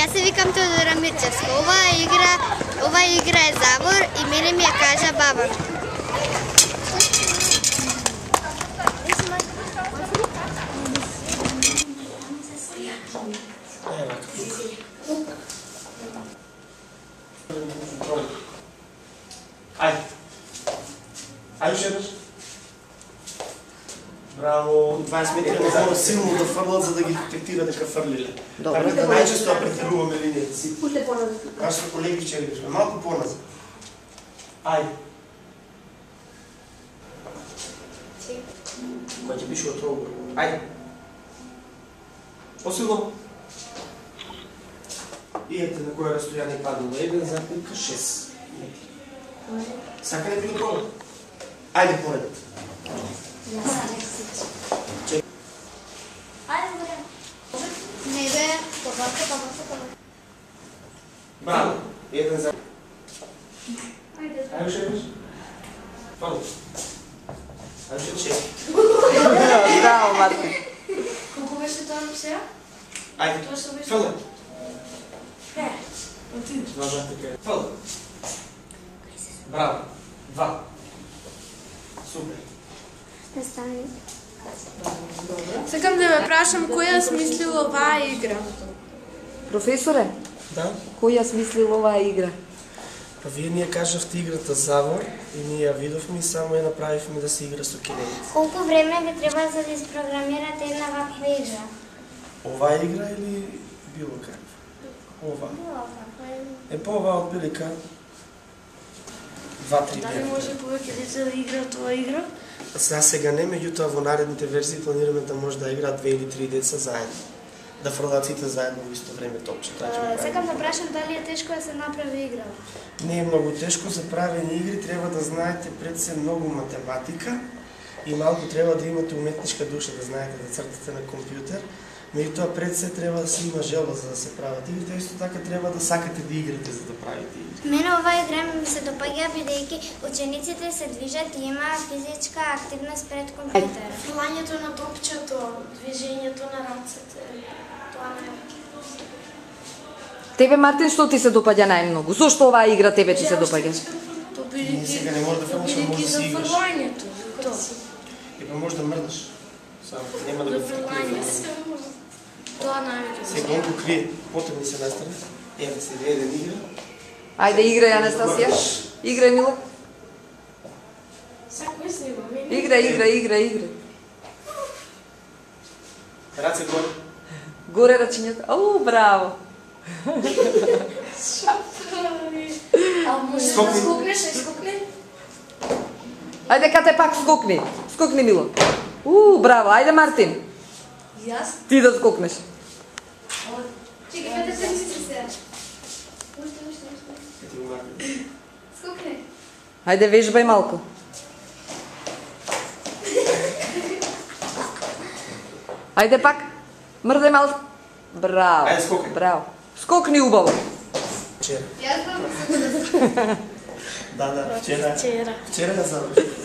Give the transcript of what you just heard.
Јас се викам Теодора Мирчевска. Ова игра е Завор и мене ми ја кажа баба. Ајде шедаш. Браво, 20 метри не знamo силно да фрлат за да ги детектира дека фрлиле. Така да најчесто ја претеруваме линијата си. Пушле поназад. Кај што колеги вчера сме малку поназад. Ајде. Кој ќе пише од троугол. Ајде. Посилно. И ете на кој растојание паднало 1,6 метри. Сакате да го пробате? Ајде поред. Не бе, това. Браво. Еден за... Ајде. Шепеш? Фало. Шепеш. Браво, Мартин. Колку беше тоа сега? Ајде. Тоа што беше? Фало. Е. Фало. Браво. 2. Супер. Сакам да ве прашам кој ја смислил оваа игра? Професоре, Да? кој ја смислил оваа игра? Па вие ни ја кажавте играта Завор и ние ја видовме и само ја направивме да се игра со кинените. Колку време ви треба за да испрограмирате една ваква игра? Оваа игра или било каква? Ова. Е по оваа отприлика 2-3 Дали дена. може повеќе деца да играат оваа игра? Сега не, меѓутоа во наредните верзии планираме да може да играат 2 или 3 деца заедно. Да фрлаат сите заедно во исто време топче. Сакам да прашам дали е тешко да се направи игра. Не е многу тешко за правење игри, треба да знаете пред се многу математика и малку треба да имате уметничка душа, да знаете да цртате на компјутер. Меѓутоа пред се треба да се има желба за да се прават игрите, а исто така треба да сакате да играте за да правите игри. Мене оваа игра ми се допаѓа бидејќи учениците се движат и има физичка активност пред компјутер. Фрлањето на топчето, движењето на рацете, тоа не е. Тебе, Мартин, што ти се допаѓа најмногу? Зошто оваа игра тебе ти се допаѓа? Ние сега не може да фрлаш, но може да за си играш. фрлањето. Тоа. И па може да мрдаш. Само нема да За го фрлањето. Тоа најмногу. Сега он го крие, потребни се настрани. Еве се еден игра. Ајде, играј, Анастасија. Играј, Мила. Секој снима. Играј. Раце горе. Горе рачињата. Ау, браво. А може да Скокни. скокнеш, скокни? Ајде, кате пак скокни. Скокни, Мило. Браво. Ајде, Мартин. Јас? Ти да скокнеш. Чекай, да се сега. Ети го Мартин. Скокни. Ајде, вежбај малку. Ајде пак. Мрдај малку. Браво. Ајде, скокни. Браво. Скокни убаво. Вчера. Јас знам. Да, вчера. Вчера. Вчера да заврши.